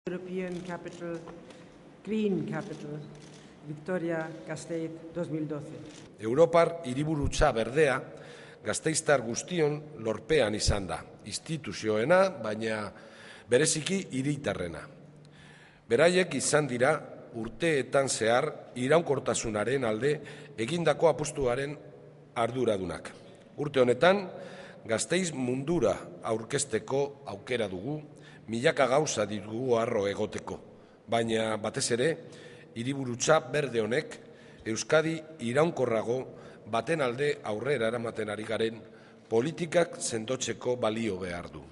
European Capital, Green Capital, Vitoria-Gasteiz 2012. Europar hiriburutza berdea gasteiztar guztion lorpean izan da, instituzioena, baina bereziki hiritarrena. Beraiek izan dira urteetan zehar iraunkortasunaren alde egindako apustuaren arduradunak. Urte honetan, Gasteiz mundura aurkezteko aukera dugu, milaka gauza ditugu harro egoteko, baina batez ere, hiriburutza berde honek Euskadi iraunkorrago baten alde aurrera eramaten ari garen politikak sendotzeko balio behar du.